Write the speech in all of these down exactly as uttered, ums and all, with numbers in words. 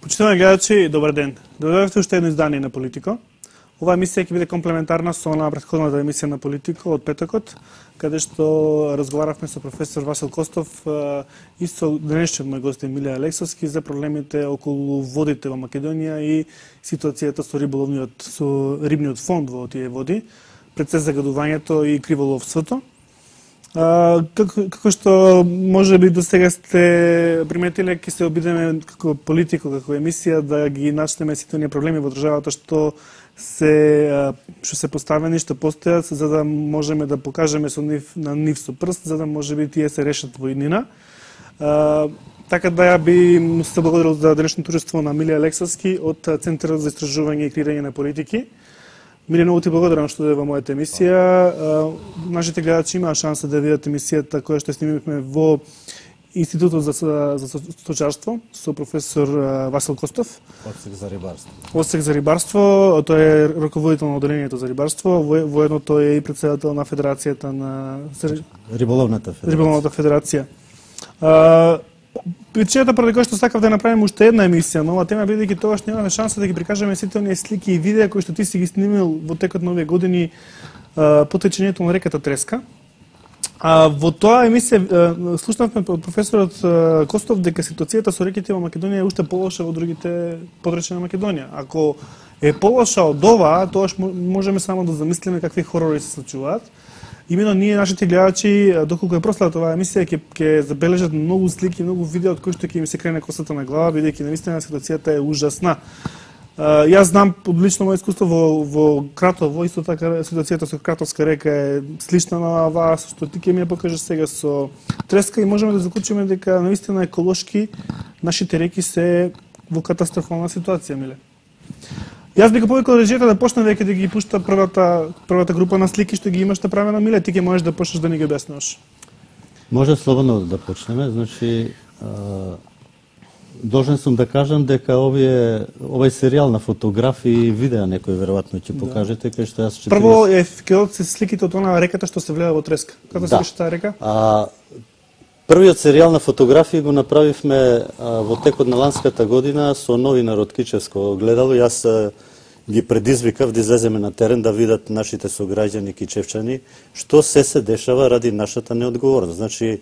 Почитувани гледачи, добар ден. Дојдовте уште едно издание на Политико. Оваа емисија ќе биде комплементарна со на претходната емисија на Политико од петокот, каде што разговаравме со професор Васил Костов и со денешниот мој гост Емилија Алексовски за проблемите околу водите во Македонија и ситуацијата со риболовниот со рибниот фонд во тие води, пред се загадувањето и криволовството. А, како, како што може би до сега сте приметиле, ќе се обидеме како Политико, како емисија да ги начнеме сите оние проблеми во државата што се што се поставени, што постојат, за да можеме да покажеме со нив на нив со прст, за да може би тие се решат во иднина. А, така да ја би се благодарил за денешното учество на Емилија Алексовски од Центарот за истражување и креирање на политики. Миле, многу ти благодарам што дојде во мојата емисија. Нашите гледачи имаа шанса да видат емисијата која што снимивме во Институтот за, за сточарство со професор Васил Костов. Одсек за рибарство. Одсек за рибарство, тој е раководител на оделението за рибарство, воедно тој е и председател на Федерацијата на Риболовната федерација. Риболовната федерација. А, причината поради која што сакав да направиме уште една емисија на оваа тема, бидејќи тогаш немаме шанса да ги прикажеме сите оние слики и видеа кои што ти си ги снимил во текот на овие години по течењето на реката Треска. А во тоа емисија слушнавме од професорот Костов дека ситуацијата со реките во Македонија е уште полоша во другите подрачја на Македонија. Ако е полоша од ова, тогаш можеме само да замислиме какви хорори се случуваат. Имено ние, нашите гледачи, доколку е проследат оваа емисија, ќе ќе забележат многу слики, многу видеа од кои што ќе им се крене косата на глава, бидејќи навистина ситуацијата е ужасна. Uh, јас знам од лично моје искуство во, во Кратово, исто така ситуацијата со Кратовска река е слична на оваа што ти ќе ми ја покажеш сега со Треска и можеме да заклучиме дека навистина еколошки нашите реки се во катастрофална ситуација, миле. Јас би го повикал режијата да почне веќе да ги пушта првата првата група на слики што ги имаш направено, миле, ти ќе можеш да почнеш да ни ги објаснуваш. Може слободно да почнеме, значи а... должен сум да кажам дека овие овој серијал на фотографии и видеа некој веројатно ќе покажете, кај што јас четиридесет... Прво е ќе се сликите од онаа реката што се влева во Треска. Како да. се беше таа река? А, првиот серијал на фотографии го направивме а, во текот на ланската година со новинар од Кичевско гледало. Јас а, ги предизвикав да излеземе на терен да видат нашите сограѓани кичевчани што се се дешава ради нашата неодговорност. Значи,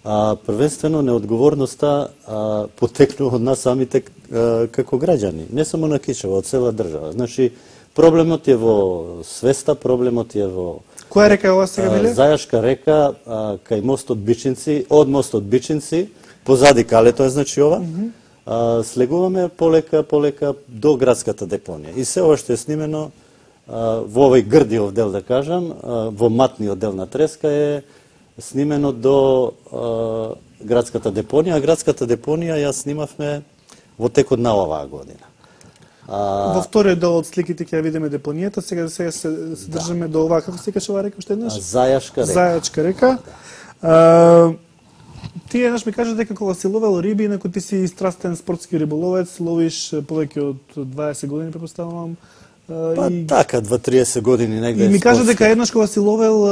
А, првенствено неодговорноста а, потекнува од нас самите а, како граѓани, не само на Кичево, од цела држава. Значи, проблемот е во свеста, проблемот е во... Која река е ова сега, биле? Зајашка река, а, кај мостот Бичинци, од мостот Бичинци, позади Калето е, значи ова, mm -hmm. а, слегуваме полека, полека до градската депонија. И се ова што е снимено а, во овој грдиов дел, да кажам, а, во матниот дел на Треска е снимено до а, градската депонија, а градската депонија ја снимавме во текот на оваа година. А... Во вториот дел од сликите ќе ја видиме депонијата, сега сега се, се држиме да. до оваа, како се каже оваа река уште еднаш? Зајашка река. Зајачка река. А, ти еднаш ми кажа дека кога си ловел риби, инаку ти си страстен спортски риболовец, ловиш повеќе од дваесет години, препоставувам. Па и... така, дваесет години негде. И ми кажа дека еднаш кога си ловел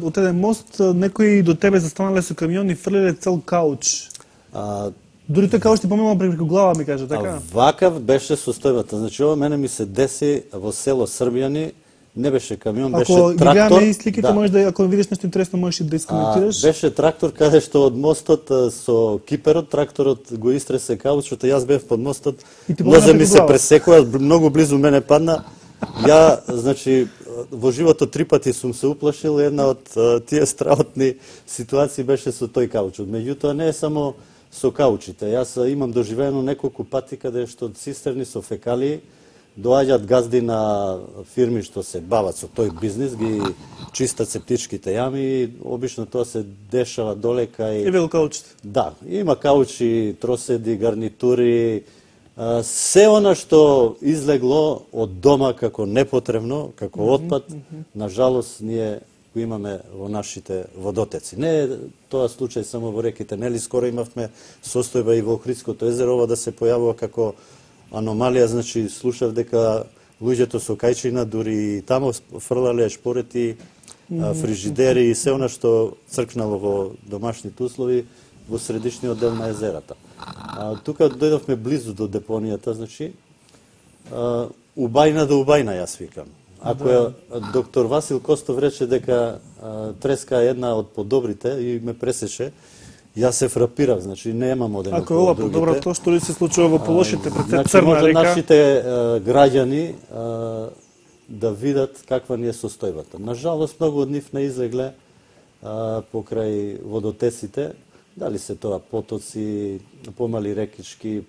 од еден мост, некои до тебе застанале со камион и фрлеле цел кауч. А... Дури тој кауч ти поминал преку глава, ми кажа, така? А вакав беше состојбата. Значи, ова мене ми се деси во село Србјани, не беше камион, беше ако трактор. Ако ги гледаме и сликите, да. можеш да, ако видиш нешто интересно, можеш и да искоментираш. А, беше трактор каде што од мостот со киперот, тракторот го истресе каучот, јас бев под мостот, нозе ми се пресекува, многу близу мене падна. Ја, значи, во животот три пати сум се уплашил, една од тие страхотни ситуации беше со тој каучот. Меѓутоа, не е само со каучите. Јас имам доживеено неколку пати каде што од цистерни со фекалии доаѓаат газди на фирми што се бават со тој бизнис, ги чистат септичките јами и обично тоа се дешава долека и... И вело каучите. Да, има каучи, троседи, гарнитури, се она што излегло од дома како непотребно, како отпад, mm -hmm. на жалост ние го имаме во нашите водотеци. Не е тоа случај само во реките, нели скоро имавме состојба и во Охридското езеро, ова да се појавува како аномалија, значи слушав дека луѓето со кајчина дури и тамо фрлале шпорети, фрижидери и се она што цркнало во домашните услови во средишниот дел на езерата. А, тука дојдовме близу до депонијата, значи а, убајна до убајна, јас викам. Ако да. Доктор Васил Костов рече дека а, треска е една од подобрите и ме пресече, јас се фрапирав, значи немам оден. Ако е ова подобро, тоа што ли се случува во полошите пред значи, Црна може река? Нашите а, граѓани а, да видат каква ни е состојбата. Нажалост, многу од нив не излегле а, покрај водотесите, дали се тоа потоци, помали рекички,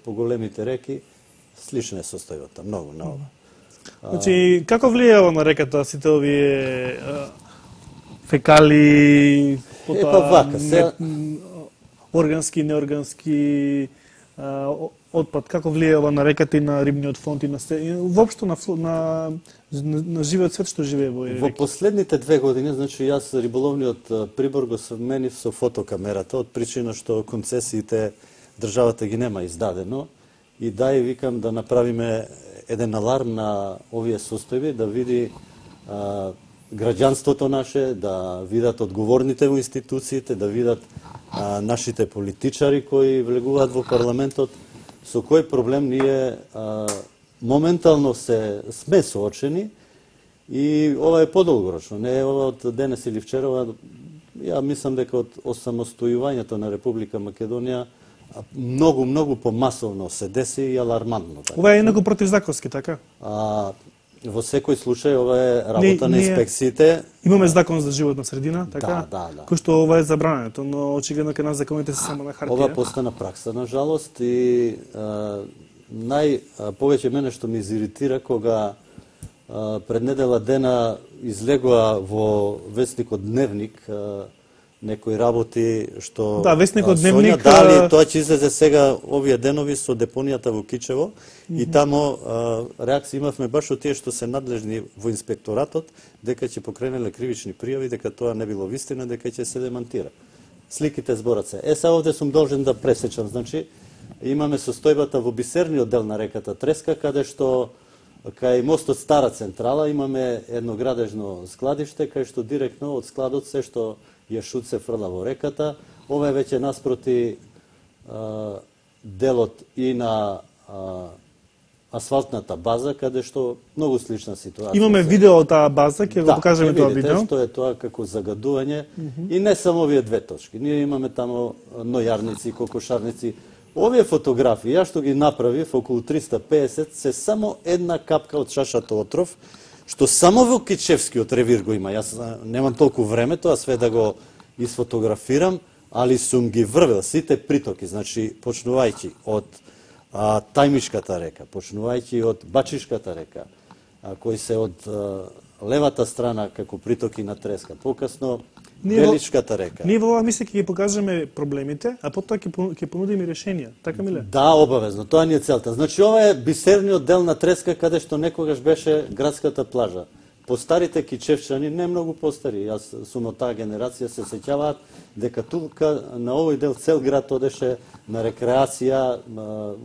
по големите реки, слична е состојбата, многу на ова. Значи, како влијава на реката сите овие а, фекали, потоа, е, па вака, се... не, органски, неоргански а, отпад, како влијава на реката и на рибниот фонд и на се, и воопшто на, на, на, на живеот свет што живее во реки? Во последните две години, значи јас риболовниот прибор го сменив со фотокамерата, од причина што концесиите државата ги нема издадено, и дај викам да направиме еден аларм на овие состојби, да види а, граѓанството наше, да видат одговорните во институциите, да видат а, нашите политичари кои влегуваат во парламентот, со кој проблем ние а, моментално се сме соочени, и ова е подолгорочно, не е ова од денес или вчера, ја мислам дека од осамостојувањето на Република Македонија многу, многу помасовно се деси и алармантно. Така. Ова е инаку противзаконски, така? А, во секој случај ова е работа не, на инспекциите. Имаме закон за животна средина, така? Да, да, да. Кој што ова е забрането, но очигледно кај нас законите се само на хартија. Ова постана пракса, на жалост, и а, нај а, повеќе мене што ми изиритира кога а, пред недела дена излегува во вестникот Дневник а, некои работи што да, вестникот Дневник Сонја, дали тоа ќе излезе сега овие денови со депонијата во Кичево, mm -hmm. и тамо а, реакција имавме баш од тие што се надлежни во инспекторатот дека ќе покренеле кривични пријави, дека тоа не било вистина, дека ќе се демантира. Сликите зборат се. Е, сега овде сум должен да пресечам, значи имаме состојбата во бисерниот дел на реката Треска, каде што кај мостот Стара Централа имаме едно градежно складиште, кај што директно од складот се што јашут се фрла во реката. Ова е веќе наспроти а, делот и на а, асфалтната база, каде што многу слична ситуација. Имаме видео од таа база, ќе да, го покажеме тоа видео. Да, што е тоа како загадување. Mm -hmm. И не само овие две точки. Ние имаме тамо нојарници, кокошарници. Овие фотографии, ја што ги направив, околу триста и песет, се само една капка од чашата отров, што само во Кичевскиот ревир го има. Јас немам толку време тоа све да го изфотографирам, али сум ги врвел сите притоки, значи почнувајќи од а, Тајмишката река, почнувајќи од Бачишката река, а, кои се од а, левата страна како притоки на Треска, покасно Величката река. Ние во ова мисля ќе ги покажеме проблемите, а потоа ќе ќе понудиме решенија. Така миле? Да, обавезно, тоа ни е целта. Значи ова е бисерниот дел на Треска каде што некогаш беше градската плажа. По старите кичевчани, не многу постари, јас сум од таа генерација, се сеќаваат дека тука на овој дел цел град одеше на рекреација,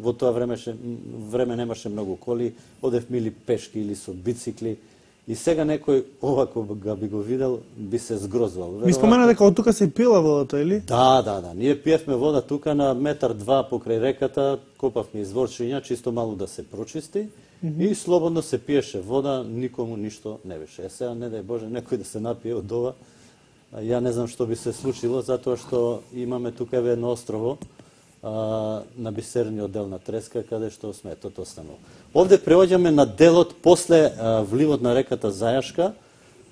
во тоа време време немаше многу коли, одевме или пешки или со бицикли. И сега некој ова кога би го видел, би се згрозвал. Ми спомена дека од тука се пила водата, или? Да, да, да. Ние пиевме вода тука на метар два покрај реката, копавме изворчиња, чисто малу да се прочисти, mm -hmm. и слободно се пиеше вода, никому ништо не беше. Е сега, не дај Боже, некој да се напие од ова, ја не знам што би се случило, затоа што имаме тука едно острово, а, на бисерниот дел на Треска, каде што сметот останува. Овде преоѓаме на делот после а, вливот на реката Зајашка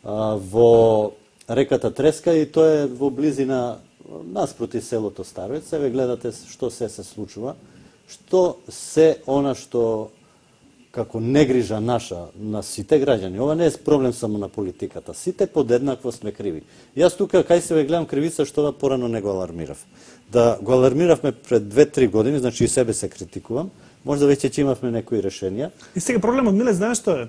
а, во реката Треска, и тоа е во близина наспроти селото Староец. Еве гледате што се се случува, што се она што како негрижа наша на сите граѓани. Ова не е проблем само на политиката. Сите подеднакво сме криви. Јас тука кај се ве гледам кривица што порано не го алармирав. Да го алармиравме пред две-три години, значи и себе се критикувам. Можда веќе ќе имавме некои решенија. И сега проблемот, Миле, знаеш што е?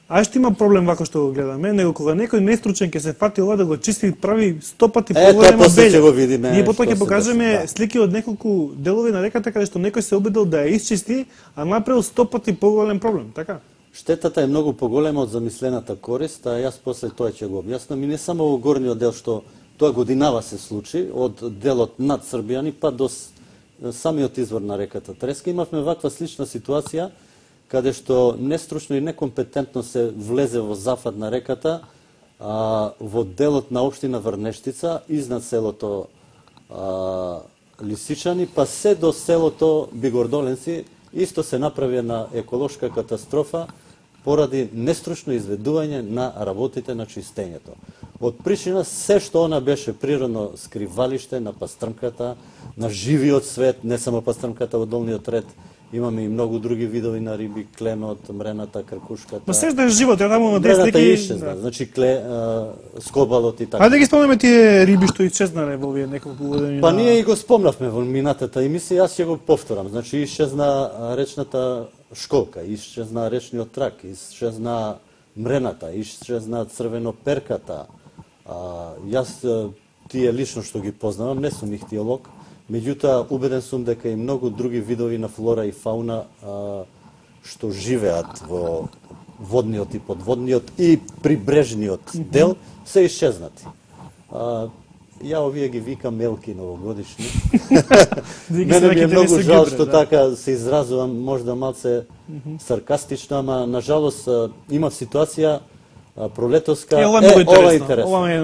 А што има проблем вако што го гледаме, него кога некој нестручен ќе се фати ова да го чисти, прави сто пати поголема белја. Ние потоа ќе покажеме да. слики од неколку делови на реката каде што некој се обидел да ја исчисти, а направил сто пати поголем проблем, така? Штетата е многу поголема од замислената корист, а јас после тоа ќе го објаснам. И не само во горниот дел што тоа годинава се случи, од делот над Србијани па до самиот извор на реката Треска, имавме ваква слична ситуација каде што нестручно и некомпетентно се влезе во зафат на реката а, во делот на општина Врнештица, изнад селото а, Лисичани, па се до селото Бигордоленци, исто се направи на еколошка катастрофа поради нестручно изведување на работите на чистењето. Од причина се што она беше природно скривалиште на пастрмката, на живиот свет, не само пастрмката во долниот ред, имаме и многу други видови на риби, кленот, мрената, кркушката. Ма се да е живот, ја таму на десет мрената леки... исчезна, да. Значи кле, а, скобалот и така. Ајде да ги спомнеме тие риби што исчезнале во овие неколку години. Па ние и го спомнавме во минатата емисија, јас ќе го повторам. Значи исчезна речната школка, исчезна речниот трак, исчезна мрената, исчезна црвеноперката. А, јас тие лично што ги познавам, не сум ихтиолог, меѓутоа убеден сум дека и многу други видови на флора и фауна а, што живеат во водниот и подводниот и прибрежниот дел се исчезнати. А, ја овие ги викам мелки новогодишни. Мене ми е многу жал што така се изразувам, можда малце саркастично, ама на жалост има ситуација пролетоска. Е, ова е, е ова интересно. Ова, е...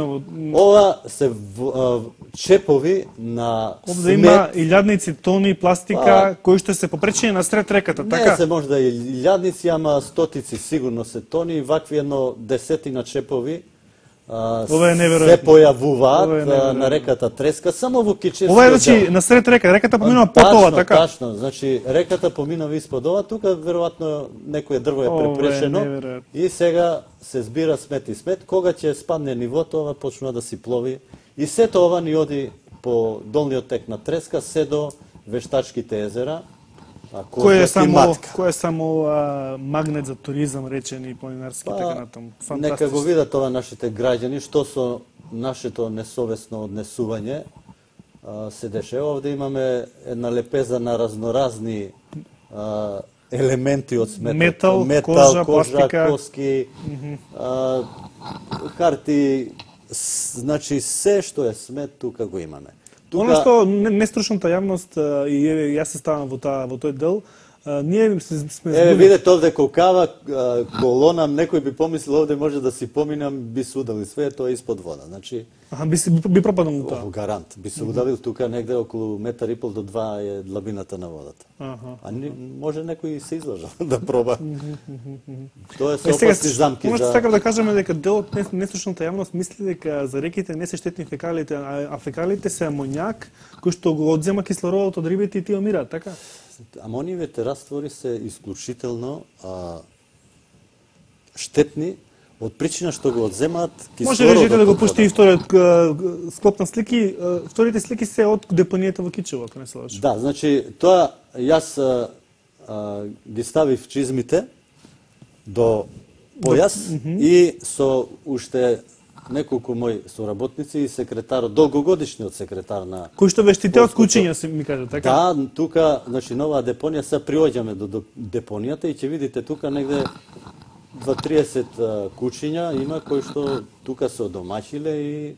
ова се в, а, чепови на Овде смет. има илјадници тони пластика, а, кои што се попречени на сред реката, така? Не се можда и илјадници, ама стотици сигурно се тони, вакви едно десетина чепови а, се појавуваат е на реката Треска, само во Кичевскиот. Ова е значи на сред река, реката поминува под ова, така? Тачно, значи реката поминува испод ова, тука веројатно некое дрво е препрешено и сега се збира смет и смет, кога ќе спадне нивото, ова почнува да си плови и сето ова ни оди по долниот тек на Треска, се до Вештачките езера, кој е само кој е само а, магнет за туризам, речени планинарски, па, така натаму. Нека го видат ова нашите граѓани што со нашето несовесно однесување а, се дешава. Овде имаме една лепеза на разноразни а, елементи од сметот. Метал, Метал кожа, кожа пластика, коски, mm -hmm. а, харти, значи се што е смет тука го имаме. Тука... Оно што нестручната јавност и јас се ставам во таа во тој дел, а, ние сме сме Еве видете овде колкава колона, некој би помислил овде може да си поминам, би се удавил све тоа испод вода. Значи Аха, би се би пропаднал тоа. Гарант, би се удавил тука негде околу метар и пол до два е длабината на водата. Аха. А не, може некој се излажа да проба. Тоа е со опасни замки за. Може сакам да кажеме дека делот нестручната јавност мисли дека за реките не се штетни фекалите, а фекалите се амоњак кој што го одзема кислородот од рибите и тие умираат, така? Амониевите раствори се исклучително а, штетни од причина што го одземаат кислородот. Може режите да го пушти и вториот склоп на слики, вторите слики се од депонијата во Кичево, ако не се лажам. Да, значи тоа јас а, а, ги ставив чизмите до појас до... Mm -hmm. и со уште неколку мои соработници и секретарот, долгогодишниот секретар на... Кој што ве штите од кучиња, се ми кажа, така? Да, тука, значи, нова депонија, се приоѓаме до, до депонијата и ќе видите тука негде дваесет кучиња има кои што тука се одомаќиле и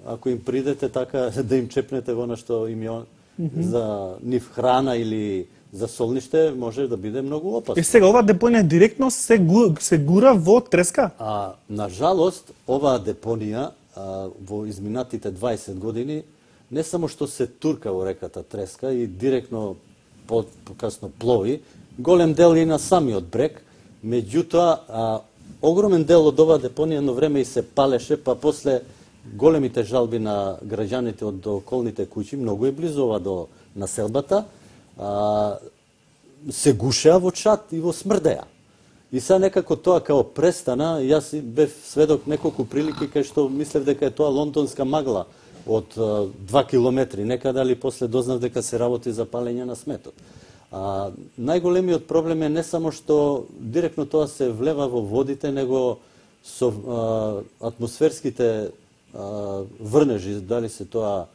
ако им придете така да им чепнете во што им е mm -hmm. за нив храна или за солниште, може да биде многу опасно. Е сега ова депонија директно се гу, се гура во Треска? А на жалост оваа депонија а, во изминатите дваесет години не само што се турка во реката Треска и директно по, покасно плови, голем дел и на самиот брег, меѓутоа а, огромен дел од оваа депонија едно време и се палеше, па после големите жалби на граѓаните од околните куќи, многу е близу ова до населбата, а, се гушеа во чат и во смрдеа. И сега некако тоа као престана, јас бев сведок неколку прилики кај што мислев дека е тоа лондонска магла од а, два километри, некада ли после дознав дека се работи за палење на сметот. А, најголемиот проблем е не само што директно тоа се влева во водите, него со а, атмосферските а, врнежи, дали се тоа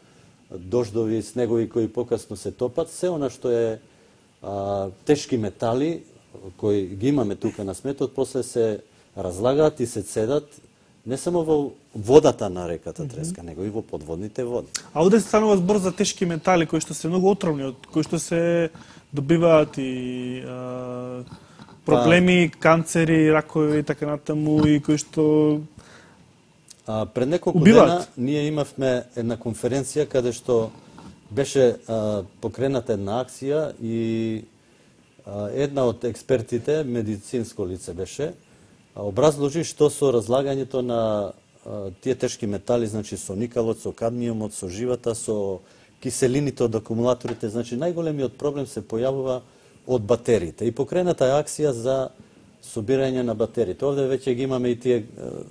дождови, снегови кои покасно се топат, се она што е а, тешки метали кои ги имаме тука на сметот, после се разлагаат и се цедат не само во водата на реката Треска, mm -hmm. него и во подводните води. А овде станува збор за тешки метали кои што се многу отровни, од кои што се добиваат и а, проблеми, па, канцери, ракови и така натаму, и кои што а, пред неколку убиваат. Дена ние имавме една конференција каде што беше а, покрената една акција и а, една од експертите, медицинско лице беше, образложи што со разлагањето на а, тие тешки метали, значи со никелот, со кадмиумот, со живата, со киселините од акумулаторите, значи најголемиот проблем се појавува од батериите. И покрената е акција за собирање на батериите. Овде веќе ги имаме и тие,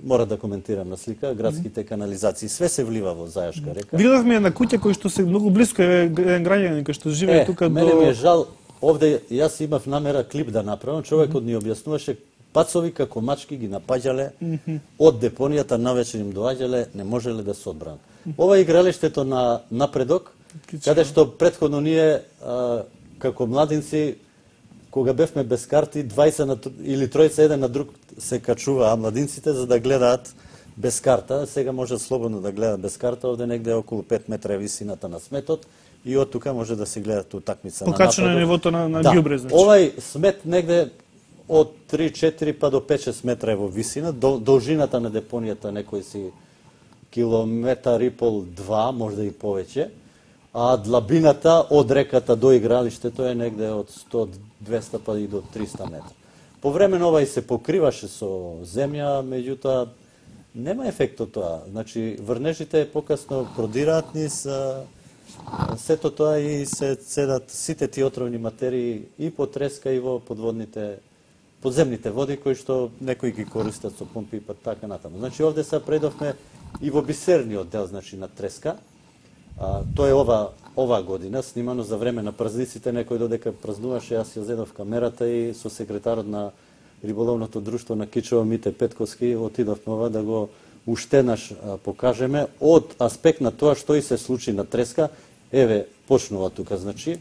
мора да коментирам на слика, градските канализации. Све се влива во Зајашка река. Видовме една куќа кој што се многу блиско е еден граѓанин кој што живее е, тука мене до... ми е жал, овде јас имав намера клип да направам, човекот ни објаснуваше пацови како мачки ги напаѓале mm -hmm. од депонијата, навечер им доаѓале, не можеле да се одбранат. Ова е игралиштето на Напредок, каде што претходно ние а, како младинци, кога бевме без карти, двајца на, или тројца еден на друг се качуваа младинците за да гледаат без карта. Сега може слободно да гледа без карта, овде негде околу пет метра е висината на сметот и од тука може да се гледат утакмица на Напредок. Покачено е нивото на, на да. ѓубре, значи. Овај смет негде од три-четири па до пет-шест метра е во висина, должината на депонијата некој си километар и пол, два, можда и повеќе, а длабината од реката до игралиштето е негде од сто до двесте па и до триста метра. По време на овај се покриваше со земја, меѓутоа нема ефект од тоа. Значи врнежите покасно продираат низ сето тоа и се цедат сите тие отровни материи и по Треска и во подводните подземните води кои што некои ги користат со помпи и па така натаму. Значи овде се предовме и во бисерниот дел, значи на Треска. А, тоа е ова ова година, снимано за време на празниците, некој додека празнуваше, јас ја зедов камерата и со секретарот на риболовното друштво на Кичево Мите Петковски отидовме ова да го уштенаш а, покажеме од аспект на тоа што и се случи на Треска. Еве почнува тука, значи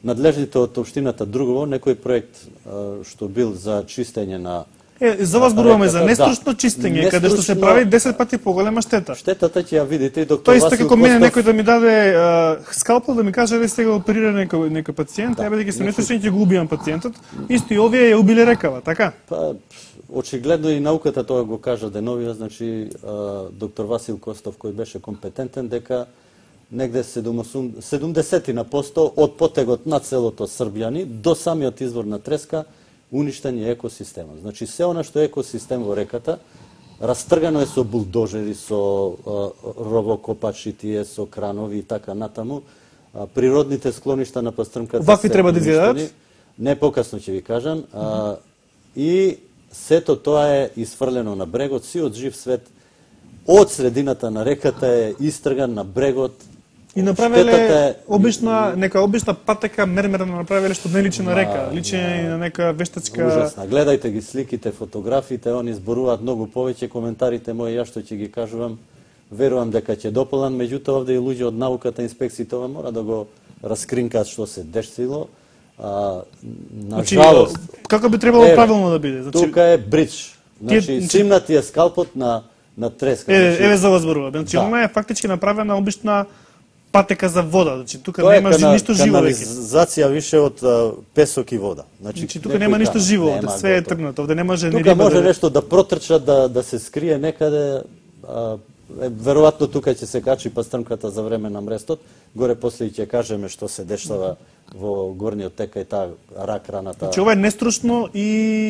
надлежните од општината Другово, некој проект а, што бил за чистење на Е, за вас зборуваме за нестручно чистење, нестручно... каде што се прави десет пати поголема штета. Штетата ќе ја видите и доктор Васил Костов. Тоа исто како мене некој да ми даде а, скалпел да ми каже да сега оперира некој некој пациент, да, еве дека се нестручни ќе го убијам пациентот. Исто и овие ја убиле рекава, така? Па очигледно и науката тоа го кажа деновија, значи а, доктор Васил Костов кој беше компетентен дека негде седумдесет на посто од потегот на целото Србјани до самиот извор на Треска уништен е екосистемот. Значи, се она што е екосистем во реката, растргано е со булдожери, со а, ровокопачи, тие, со кранови и така натаму. А, природните склоништа на пастрмката Вакви треба да изгледат? Не покасно ќе ви кажам. А, и сето тоа е исфрлено на брегот, сиот жив свет од средината на реката е истрган на брегот. И направиле обична, нека обична патека мермерна направиле што не личи на река, личи на нека вештачка... Ужасна. Гледајте ги сликите, фотографиите, они зборуваат многу повеќе, коментарите мои, ја што ќе ги кажувам, верувам дека ќе дополнам, меѓутоа овде и луѓе од науката, инспекциите, ова мора да го раскринкаат што се десило. А, на значи, жалост... како би требало е, правилно да биде? Значи, тука е бридж. Значи, тие, симнати е скалпот на, на Треска. Е, значи, еве за вас зборува. Значи, да. Она е фактички направена обична патека за вода, значи тука тоа нема кана, ништо живо веќе. Канализација више од а, песок и вода. Значи, значи тука нема ништо живо, нема, све е тргнато, овде не може тука ни риба. Тука може да... нешто да протрча, да да се скрие некаде, а, е, веројатно тука ќе се качи пастрмката за време на мрестот, горе после ќе кажеме што се дешава во горниот тека и таа рак раната. Значи ова е нестручно и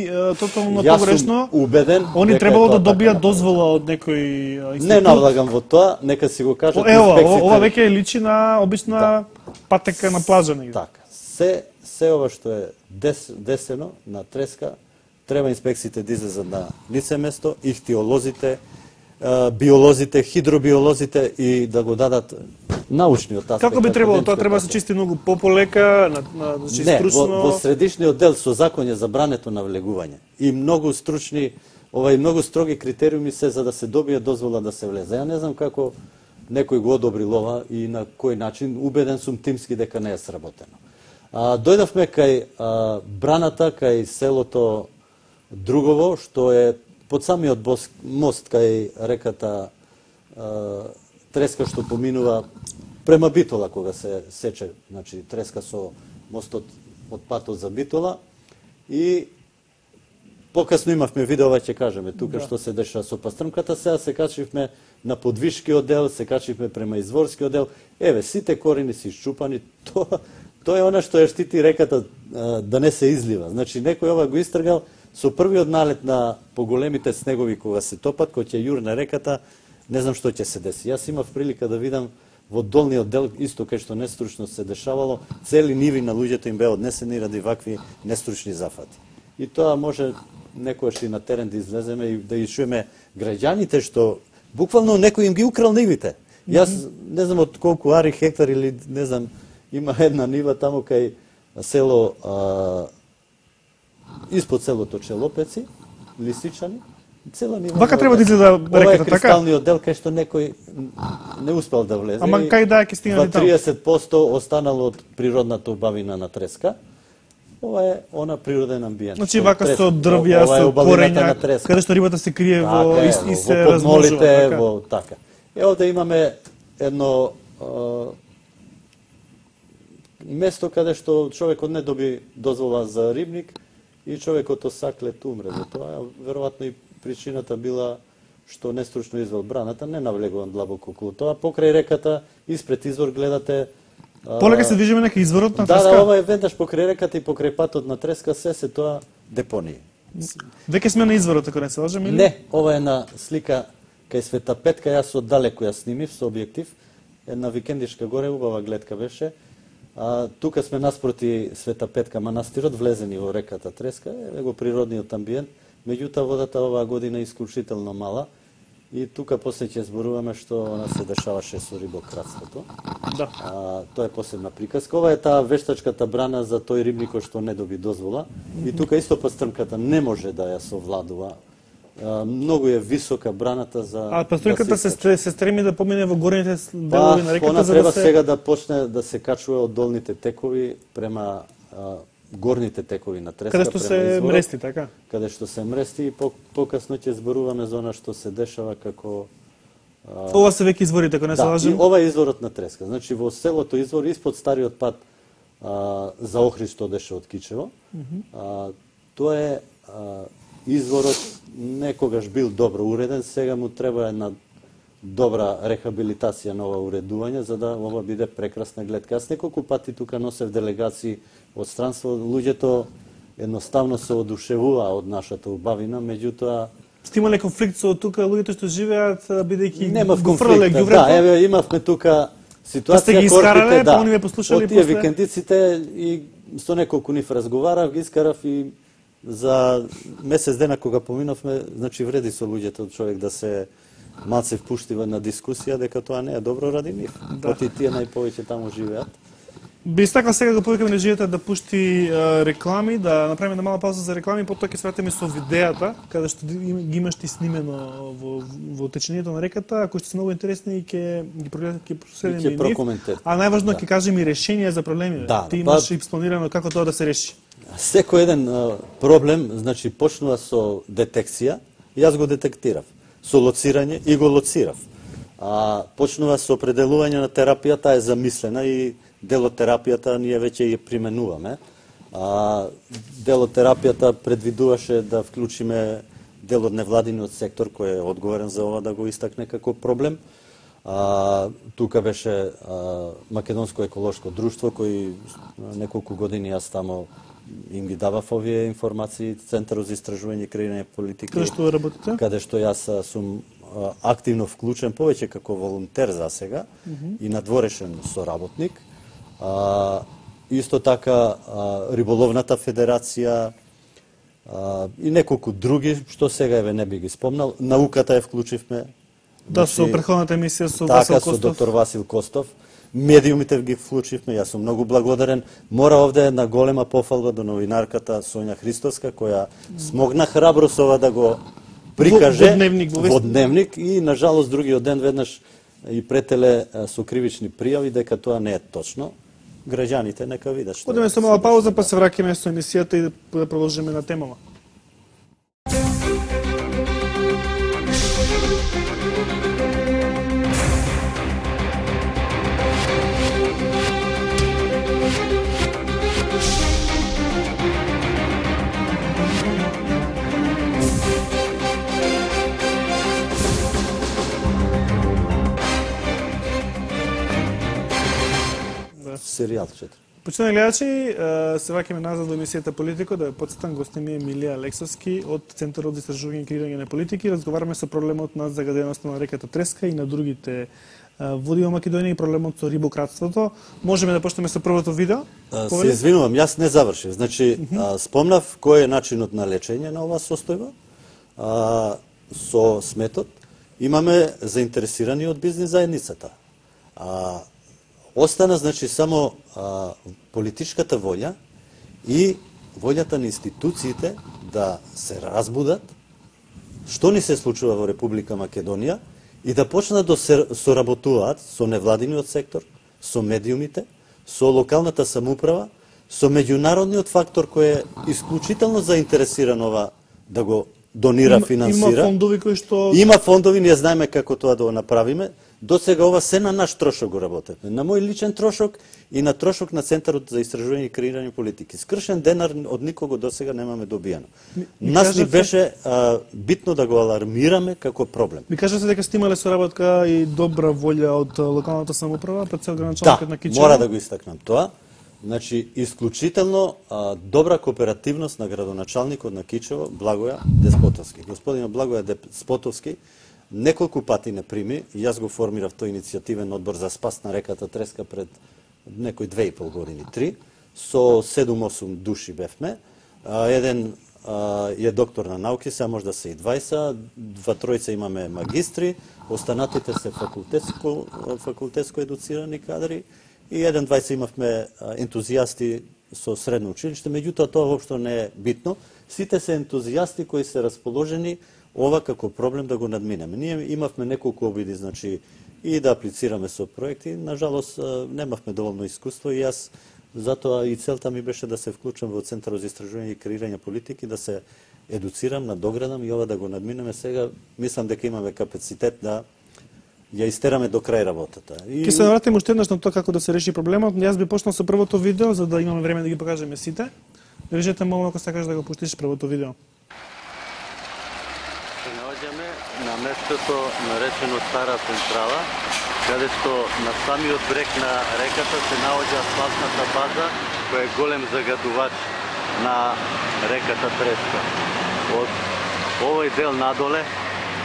е, тотално погрешно. Убеден. Они требало да добијат дозвола од некој институт. Не навлагам во тоа, нека си го кажат инспекциите. Ево, ова веќе личи на обична да. Патека на плажа негде. Така. Се се ова што е дес, десено на Треска, треба инспекциите да излезат на лице место, ихтиолозите, биолозите, хидробиолозите и да го дадат научниот аспект. Како би требало тоа треба да се чисти многу пополека, на, на значи не, стручно? Не, во, во средишниот дел со закон е забрането на влегување и многу стручни, ова и многу строги критериуми се за да се добие дозвола да се влезе. Ја не знам како некој го одобрил ова и на кој начин, убеден сум тимски дека не е сработено. А, дојдовме кај а, браната, кај селото Другово, што е под самиот бос, мост кај реката а, Треска, што поминува према Битола кога се сече, значи Треска со мостот од патот за Битола и покасно имавме видео, ќе кажеме тука да. Што се деша со пастрмката, сега се качивме на подвишкиот дел, се качивме према изворскиот дел. Еве, сите корени се исчупани, тоа тоа е она што ја штити реката а, да не се излива. Значи некој ова го истргал со првиот налет на поголемите снегови кога се топат, кој ќе јурне реката, не знам што ќе се деси. Јас имав прилика да видам во долниот дел, исто кај што нестручно се дешавало, цели ниви на луѓето им беа однесени ради вакви нестручни зафати. И тоа може некојаш и на терен да излеземе и да ишуеме граѓаните што буквално некој им ги украл нивите. Јас не знам од колку ари хектар или не знам, има една нива таму кај село а, испод селото Челопеци, Лисичани, цела нива. Вака треба да изгледа реката така? Ова е кристалниот дел кај што некој не успел да влезе. Ама кај да ќе стигне таму? триесет проценти останало од природната убавина на Треска. Ова е она природен амбиент. Значи вака со дрвја, со корења, каде што рибата се крие во и, и се размножува. Во подмолите, во така. Е, овде имаме едно а, место каде што човекот не доби дозвола за рибник и човекот осаклет умре. За тоа веројатно и причината била што нестручно извел браната, не навлегувам длабоко околу тоа. Покрај реката, испред извор гледате. Полека се движиме нека изворот на Треска. Да, да, ова е веднаш покрај реката и покрај патот на Треска, се се тоа депонија. Веќе сме на изворот, ако не се лажам, или? Не, ова е на слика кај Света Петка, јас оддалеку ја снимив со објектив. Една викендишка горе, убава гледка беше. А, тука сме наспроти Света Петка манастирот, влезени во реката Треска, е го природниот амбиент. Меѓутоа водата оваа година е исклучително мала и тука после ќе зборуваме што она се дешаваше со рибократството. Да. А, тоа е посебна приказка. Ова е таа вештачката брана за тој рибникот што не доби дозвола. И тука исто пастрмката не може да ја совладува. А, многу е висока браната за А пастрмката да се, се, се стреми да помине во горните па, делови на реката, она за треба да се... сега да почне да се качува од долните текови према а, горните текови на Треска, каде што се изворот, мрести, така? Каде што се мрести и по, покасно ќе зборуваме за она што се дешава како а... Ова се веќе изворите, ако не се да, лажем. И ова е изворот на Треска. Значи во селото Извор испод стариот пат а, за Охрид што одеше од Кичево. Mm -hmm. а, тоа е а, изворот некогаш бил добро уреден, сега му треба една добра рехабилитација на ова уредување за да ова биде прекрасна гледка. Јас неколку пати тука носев делегации од странство, луѓето едноставно се одушевуваа од нашата убавина, меѓутоа Сте имале конфликт со тука луѓето што живеат бидејќи немав конфликт. Да, еве имавме тука ситуација па корпите, да. Они ве послушали од тие после... викендиците и со неколку нив разговарав, ги искарав и за месец дена кога поминовме, значи вреди со луѓето човек да се малце впушти на дискусија дека тоа не е добро ради нив. Да. Оти тие најповеќе таму живеат. Би стакал сега да повикаме на живејата да пушти а, реклами, да направиме една мала пауза за реклами, потоа ќе се вратиме со видеата, каде што ги имаш ти снимено во, во течението на реката, кои што се многу интересни и ќе ги прогледаме, ќе проследиме и нив. А најважно ќе да. кажеме и решенија за проблеми. Да, ти имаш па... и планирано како тоа да се реши. Секој еден а, проблем, значи почнува со детекција, јас го детектирав, со лоцирање и го лоцирав. А почнува со определување на терапијата, е замислена и дел од терапијата ние веќе ја применуваме. А, дел од терапијата предвидуваше да вклучиме дел од невладиниот сектор кој е одговорен за ова да го истакне како проблем. А, тука беше а, Македонско еколошко друштво кој неколку години јас тамо им ги давав овие информации, Центарот за истражување и креирање политики. Каде што работите? Каде што јас сум а, активно вклучен повеќе како волонтер за сега mm -hmm. и надворешен соработник. А, исто така а, Риболовната федерација а, и неколку други, што сега еве не би ги спомнал. Науката ја вклучивме. Да, значи, со претходната емисија со така, Васил со Костов. доктор Васил Костов. медиумите ги вклучивме, јас сум многу благодарен. Мора овде една голема пофалба до новинарката Сонја Христовска, која смогна храбро со ова да го прикаже во дневник, во, во дневник и на жалост другиот ден веднаш и претеле со кривични пријави дека тоа не е точно. Граѓаните нека видат што. Одеме со мала пауза, па се враќаме со емисијата и да продолжиме на темава. Серијал четири. Почитувани гледачи, се враќаме назад во емисијата Политико, да ја потсетам, гостин ми е Милија Алексовски од Центарот за истражување и креирање на политики. Разговараме со проблемот на загаденоста на реката Треска и на другите води во Македонија и проблемот со рибократството. Можеме да почнеме со првото видео? А, се извинувам, јас не завршив. Значи, mm -hmm. а, спомнав кој е начинот на лечење на оваа состојба. А, со сметот имаме заинтересирани од бизнис заедницата. А, Остана, значи, само а, политичката волја и волјата на институциите да се разбудат што ни се случува во Република Македонија и да почнат да се соработуваат со невладиниот сектор, со медиумите, со локалната самоуправа, со меѓународниот фактор кој е исклучително заинтересиран ова да го донира, има, финансира. Има фондови кои што... Има фондови, ние знаеме како тоа да го направиме. До сега ова се на наш трошок го работевме. На мој личен трошок и на трошок на Центарот за истражување и креирање политики. Скршен денар од никого до сега немаме добиено. Ми, ми Нас ни беше а, битно да го алармираме како проблем. Ми кажете дека сте имале соработка и добра волја од локалната самоуправа пред цел граначалникот да, на Кичево? Мора да го истакнам тоа. Значи, исклучително а, добра кооперативност на градоначалникот на Кичево, Благоја Деспотовски. Господин Благоја Деспотовски неколку пати не прими, и јас го формирав тој иницијативен одбор за спас на реката Треска пред некои две и пол години, три, со седум-осум души бевме. А, еден а, е доктор на науки, сега може да се и дваесет, два тројца имаме магистри, останатите се факултетско, факултетско едуцирани кадри, и еден дваесет имавме ентузијасти со средно училиште, меѓутоа тоа воопшто не е битно. Сите се ентузијасти кои се расположени ова како проблем да го надминеме. Ние имавме неколку обиди, значи, и да аплицираме со проекти, нажалост немавме доволно искуство и јас затоа и целта ми беше да се вклучам во Центарот за истражување и креирање политики, да се едуцирам, надоградам и ова да го надминеме. Сега мислам дека имаме капацитет да ја истераме до крај работата. И... Ке се навратиме уште еднаш на тоа како да се реши проблемот. Јас би почнал со првото видео, за да имаме време да ги покажеме сите. Режете, молам, ако сакаш да го пуштиш првото видео. Се наоѓаме на местото наречено Стара Централа, каде што на самиот брег на реката се наоѓа асфалтната база, која е голем загадувач на реката Треска. Од овој дел надоле,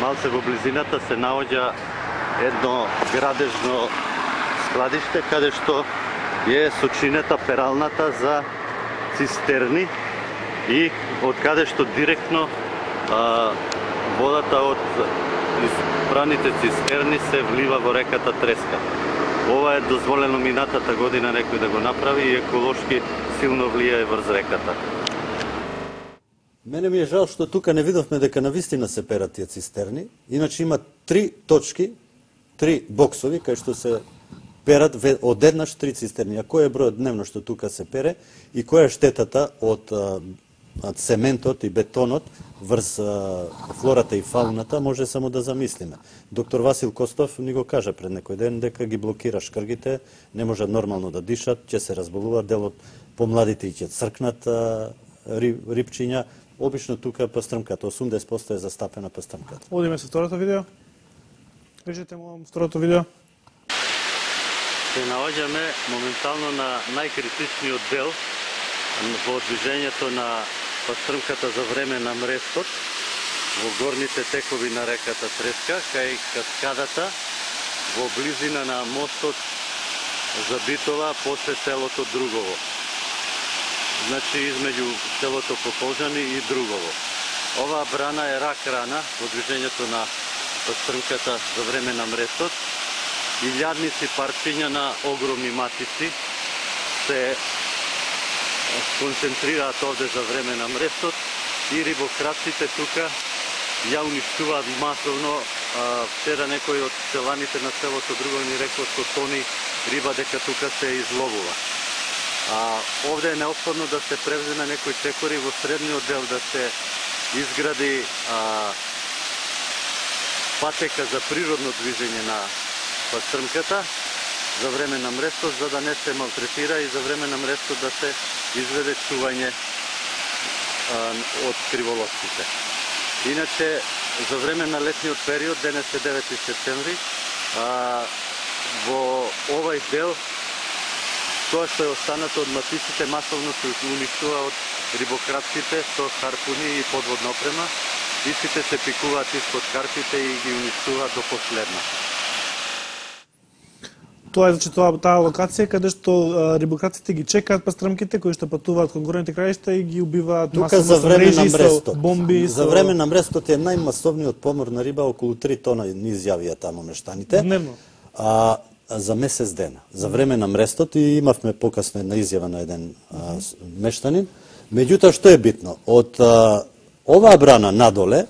малце во близината, се наоѓа едно градежно складиште, каде што е сочинета пералната за цистерни и од каде што директно а, водата од испраните цистерни се влива во реката Треска. Ова е дозволено минатата година некој да го направи и еколошки силно влијае врз реката. Мене ми е жал што тука не видовме дека навистина се перат тие цистерни. Иначе има три точки, три боксови кај што се перат одеднаш три цистерни. А кој е бројот дневно што тука се пере и која е штетата од од цементот и бетонот врз флората и фауната, може само да замислиме. Доктор Васил Костов ни го кажа пред некој ден дека ги блокира шкргите, не може нормално да дишат, ќе се разболуваат, дел од помладите и ќе цркнат риб, рибчиња. Обично тука пастрмката, осумдесет проценти е застапена пастрмката. Одиме со второто видео. Кажете му второто видео. Се наоѓаме моментално на најкритичниот дел во движењето на пастрмката за време на мрестот во горните текови на реката Треска, кај каскадата во близина на мостот за Битова после селото Другово. Значи измеѓу селото Пополжани и Другово. Оваа брана е рак рана во движењето на пастрмката за време на мрестот илјадници парчиња на огромни матици се концентрираат овде за време на мрестот и рибокраците тука ја уништуваат масовно. Вчера некој од селаните на селото Друго ни рекол со тони риба дека тука се изловува. А овде е неопходно да се превземе некој чекори во средниот дел, да се изгради а, патека за природно движење на пастрмката за време на мрестот, за да не се малтретира и за време на мрестот да се изведе чување а, од криволовците. Иначе, за време на летниот период, денес е девети септември, а, во овај дел, тоа што е останато од матиците, масовно се уништува од рибокраците со харпуни и подводна опрема. Истите се пикуваат испод карпите и ги уништуваат до последно. Тоа е, значи, тоа, таа локација каде што а, рибокраците ги чекаат пастрмките кои што патуваат кон горните краишта и ги убиваат тука за време на мрестот. Бомби. За со... време на мрестот е најмасовниот помор на риба, околу три тона ни изјавија таму мештаните. Дневно. А, за месец дена. За време на мрестот и имавме покасно една изјава на еден а, мештанин. Меѓутоа, што е битно? Од а, оваа брана надоле,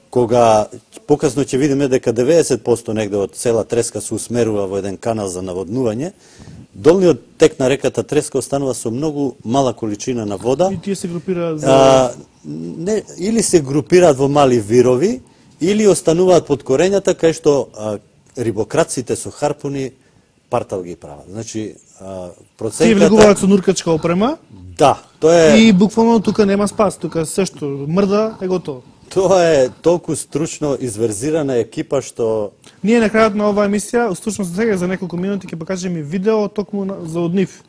кога покасно ќе видиме дека деветдесет проценти негде од цела Треска се усмерува во еден канал за наводнување, долниот тек на реката Треска останува со многу мала количина на вода. И тие се групираат за... А, не, или се групираат во мали вирови, или остануваат под корењата, кај што а, рибокраците со харпуни партал ги прават. Значи, а, процентата... Тие влегуваат со нуркачка опрема. Да, тоа е... И буквално тука нема спас, тука се што мрда е готово. Тоа е толку стручно изверзирана екипа што... Ние на крајот на оваа емисија, стручно сега за неколку минути ќе покажеме видео токму за од нив,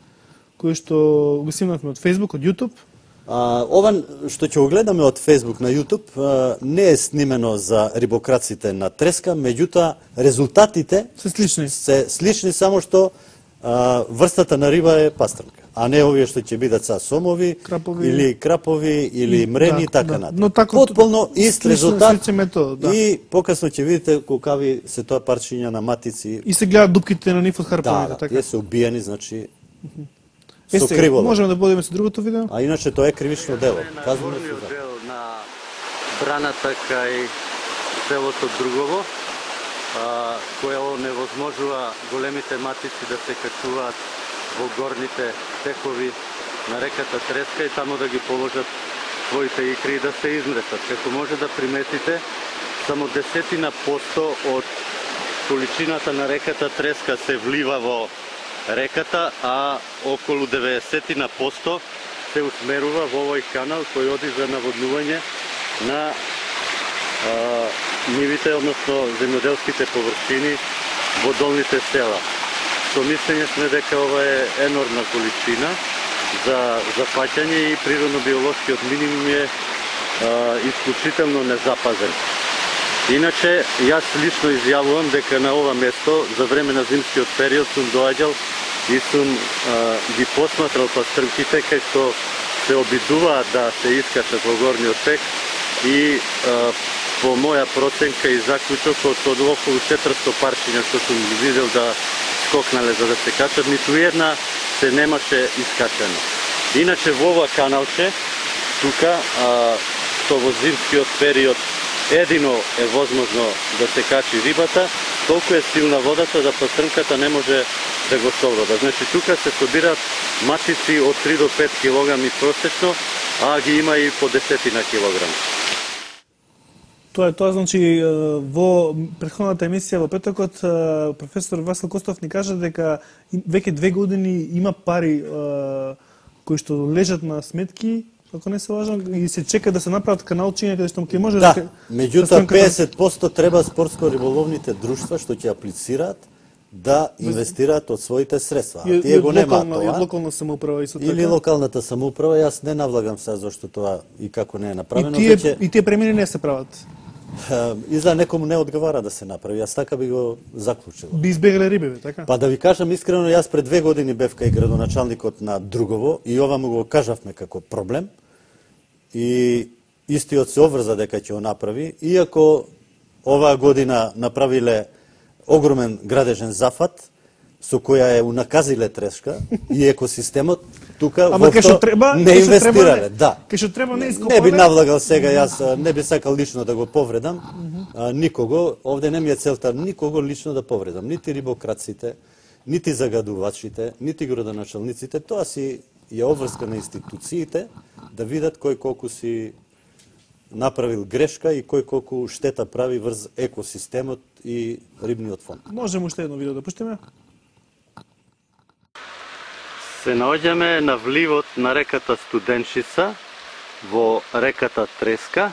кој што го снимавме од Facebook, од YouTube. А, ова што ќе го гледаме од Facebook на YouTube а, не е снимено за рибокраците на Треска, меѓутоа резултатите се слични. Се слични, само што а, врстата на риба е пастрмка, а не овие што ќе бидат са сомови, крапови, или крапови, или мрени, да, така да. натаму. Но тако, потполно ист резултат метод, да. И покасно ќе видите колкави се тоа парчиња на матици. И се гледаат дупките на нив од харпоните, да, така. Да, се убиени, значи Е, со сега, криволов. можеме да подиме со другото видео? А иначе тоа е кривично дело. Казваме се дел на браната кај селото Другово, а, која невозможува големите матици да се качуваат во горните текови на реката Треска и таму да ги положат своите икри и да се измресат. Како може да приметите, само десетина посто од количината на реката Треска се влива во реката, а околу деветдесетина посто се усмерува во овој канал кој оди за наводнување на а, нивите, односно земјоделските површини во долните села. Со мислење сме дека ова е енормна количина за запаќање и природно-биолошкиот минимум е а, исклучително незапазен. Иначе, јас лично изјавувам дека на ова место за време на зимскиот период сум доаѓал и сум а, ги посматрал пастрмките кај што се обидуваат да се искачат во горниот тек и а, по моја проценка и заклучок од, од околу четиристо парчиња што сум видел да скокнале за да се качат, ниту една се немаше искачено. Иначе во ова каналче, тука, а, што во зимскиот период едино е возможно да се качи рибата, толку е силна водата да пастрмката не може да го совлада. Значи тука се собираат матици од три до пет килограми просечно, а ги има и по десетина килограми. Тоа е тоа, значи во претходната емисија во петокот професор Васил Костов ни кажа дека веќе две години има пари кои што лежат на сметки, ако не се лажам, и се чека да се направат каналчиња каде што ќе може да. Да, меѓутоа педесет проценти треба спортско-риболовните друштва што ќе аплицираат да инвестираат од своите средства. А тие го немаат тоа. И локална самоуправа исто така. Или локалната самоуправа, јас не навлагам сега зашто тоа и како не е направено. И тие, веќе... и тие премини не се прават. И за некому не одговара да се направи. Јас така би го заклучил. Би избегале рибеве, така? Па да ви кажам искрено, јас пред две години бев кај градоначалникот на Другово и ова му го кажавме како проблем. И истиот се обврза дека ќе го направи, иако оваа година направиле огромен градежен зафат со која е унаказиле Треска и екосистемот, тука воопшто не инвестирале. Да. Кај што треба не ископале. Не би навлагал сега, јас не би сакал лично да го повредам а, никого. Овде не ми е целта никого лично да повредам. Нити рибокраците, нити загадувачите, нити градоначалниците. Тоа си е обврска на институциите да видат кој колку си направил грешка и кој колку штета прави врз екосистемот и рибниот фонд. Можеме уште едно видео да пуштиме? Се наоѓаме на вливот на реката Студенчица во реката Треска,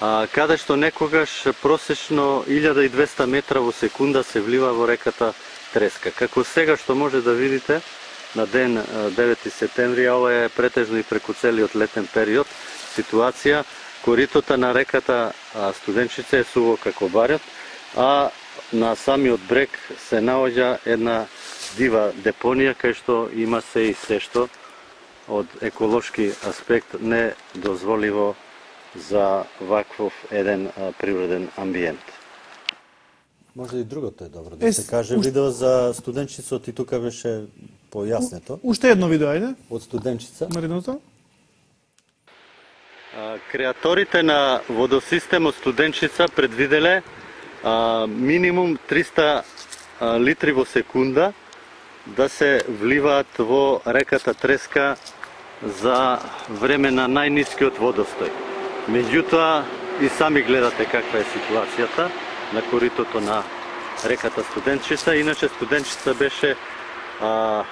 а, каде што некогаш просечно илјада и двесте метра во секунда се влива во реката Треска. Како сега што може да видите на ден девети септември, а ова е претежно и преку целиот летен период, ситуација, коритото на реката Студенчица е суво како барјот, а на самиот брег се наоѓа една дива депонија кај што има се и се што од еколошки аспект не дозволиво за ваквов еден а, природен амбиент. Може и другото е добро да е, се каже. Уште... Видео за Студенчицот и тука беше појаснето. Уште едно видео, ајде. Од Студенчица. Наредното. Креаторите на водосистемот Студенчица предвиделе а, минимум триста а, литри во секунда да се вливаат во реката Треска за време на најнискиот водостој. Меѓутоа, и сами гледате каква е ситуацијата на коритото на реката Студенчица. Иначе Студенчица беше а,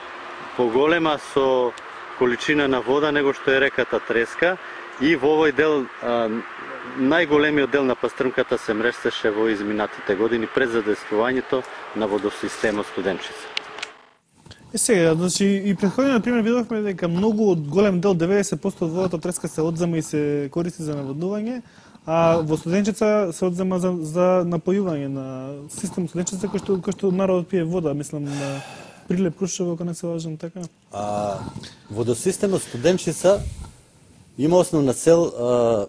поголема со количина на вода него што е реката Треска и во овој дел, а, најголемиот дел на пастрмката се мрештеше во изминатите години пред задействувањето на водосистемот Студенчица. Е сега, значи и претходниот пример видовме дека многу од голем дел, деветдесет проценти од водата Треска се одзема и се користи за наводнување, а во Студенчица се одзема за, за напојување на системот Студенчица кој што, кој што народот пие вода, мислам на Прилеп, Крушево, ако не се лажам така. А, водосистемот Студенчица има основна цел а,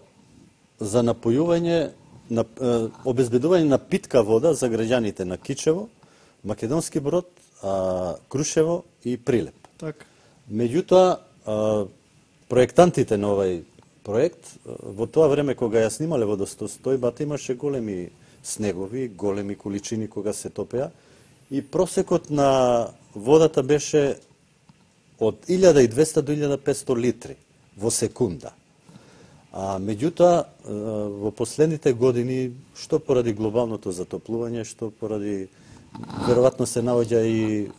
за напојување, на, а, обезбедување на питка вода за граѓаните на Кичево, Македонски Брод, а, Крушево и Прилеп. Так. Меѓутоа, а, проектантите на овај проект, во тоа време кога ја снимале водостојбата, имаше големи снегови, големи количини кога се топеа и просекот на водата беше од илјада и двесте до илјада и петсто литри во секунда. А меѓутоа, во последните години, што поради глобалното затоплување, што поради веројатно се наоѓа и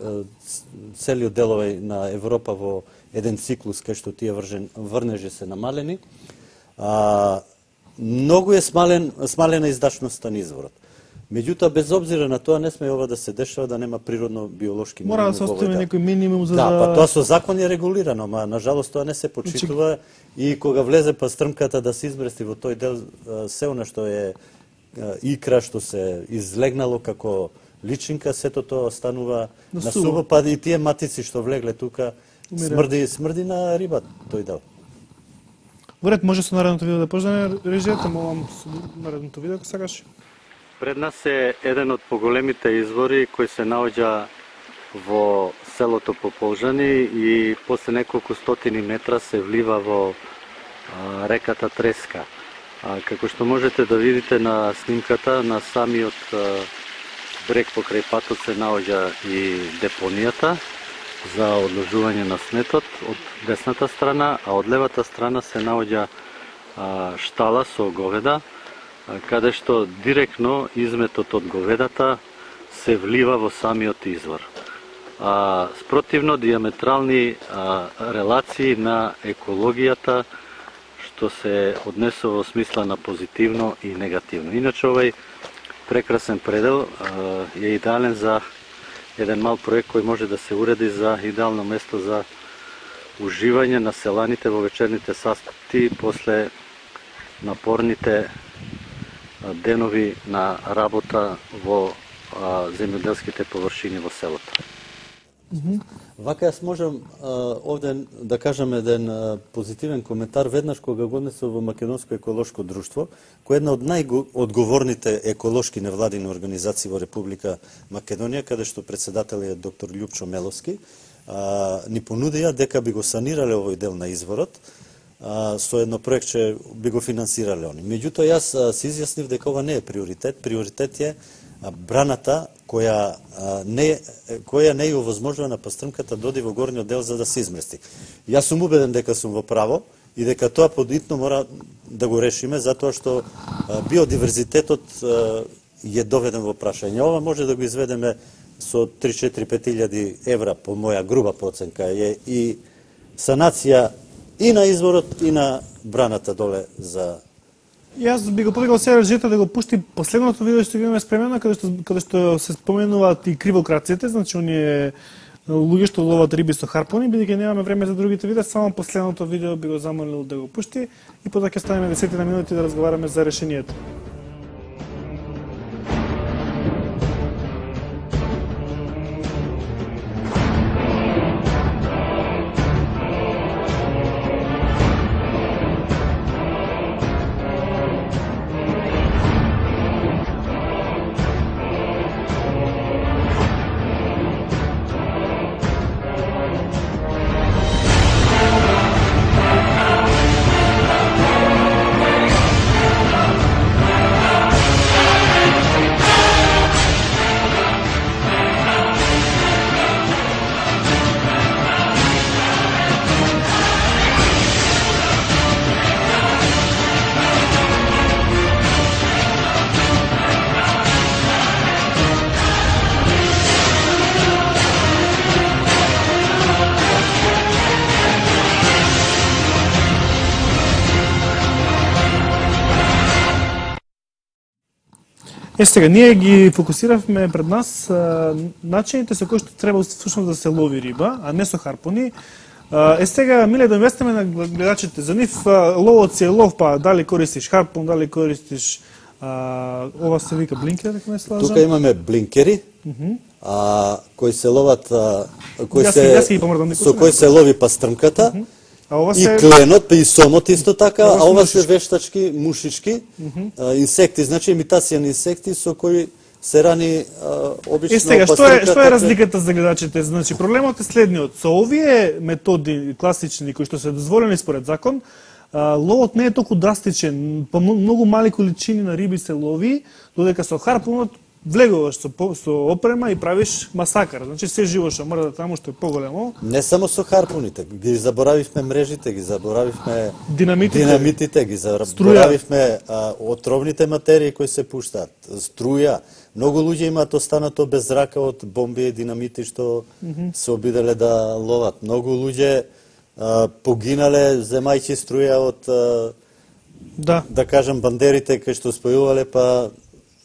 целиот делови на Европа во еден циклус кај што тие вржен, врнежи се намалени, а, многу е смален, смалена издашноста на изворот. Меѓутоа, без обзира на тоа, не сме ова да се дешава да нема природно биолошки минимум. Мора да се остави некој минимум за да... Да, па тоа со закон е регулирано, ма нажалост тоа не се почитува и кога влезе пастрмката да се измрести во тој дел се она што е икра, што се излегнало како личинка, сето тоа станува на, на суво, па и тие матици што влегле тука смрди, смрди на риба тој дел. Во ред, може со наредното видео да пождане режијата, молам со наредното видео, ако сакаш. Пред нас е еден од поголемите извори кој се наоѓа во селото Пополжани и после неколку стотини метра се влива во а, реката Треска. А, како што можете да видите на снимката, на самиот а, брег покрај патот се наоѓа и депонијата за одложување на сметот од десната страна, а од левата страна се наоѓа а, штала со говеда, каде што директно изметот од говедата се влива во самиот извор. А, спротивно диаметрални а, релации на екологијата што се однесува во смисла на позитивно и негативно. Иначе овај прекрасен предел а, е идеален за еден мал проект кој може да се уреди за идеално место за уживање на селаните во вечерните сати после напорните денови на работа во а, земјоделските површини во селото. Mm-hmm. Вака јас можам а, овде да кажам еден а, позитивен коментар веднаш кога го однесов во Македонско еколошко друштво, кој е една од најодговорните еколошки невладини организации во Република Македонија, каде што председател е доктор Љупчо Меловски, а, ни понудија дека би го санирале овој дел на изворот, а, со едно проектче би го финансирале они. Меѓутоа јас а, се изјаснив дека ова не е приоритет, приоритет е а, браната која а, не која не е овозможува на пастрмката да оди во горниот дел за да се измести. Јас сум убеден дека сум во право и дека тоа подитно мора да го решиме затоа што а, биодиверзитетот а, е доведен во прашање. Ова може да го изведеме со три четири пет илјади евра по моја груба проценка е и санација и на изворот и на браната доле за. Јас би го повикал сега Жета да го пушти последното видео што го имаме спремено, каде што каде што се споменуваат и кривокраците, значи оние луѓе што ловат риби со харпуни, бидејќи немаме време за другите видеа, само последното видео би го замолил да го пушти и потоа ќе ставиме десет минути да разговараме за решението. Е, сега, ние ги фокусиравме пред нас а, начините со кои што треба всушност да се лови риба, а не со харпуни. А, е, сега, миле да објасниме на гледачите, за нив а, ловот си е лов, па дали користиш харпун, дали користиш, а, ова се вика блинкер, ако не се лажам. Тука имаме блинкери, uh -huh. а, кои се ловат, а, кои јас, се, јас со кои се лови пастрмката, uh -huh. А ова се... И кленот, и сомот исто така, ова а ова се вештачки, мушички, mm -hmm. а, инсекти, значи имитација на инсекти со кои се рани а, обично... И сега, што е, што е разликата за гледачите? Значи, проблемот е следниот. Со овие методи класични, кои што се дозволени според закон, а, ловот не е толку драстичен, по многу мали количини на риби се лови, додека со харпунот влегуваш со, со опрема и правиш масакар. Значи се живо што мора да таму што е поголемо. Не само со харпуните, ги заборавивме мрежите, ги заборавивме динамитите, динамитите ги заборавивме а, отровните материи кои се пуштаат, струја. Многу луѓе имаат останато без рака од бомби и динамити што mm -hmm. се обиделе да ловат. Многу луѓе а, погинале земајќи струја од а, да. да кажам бандерите кои што спојувале па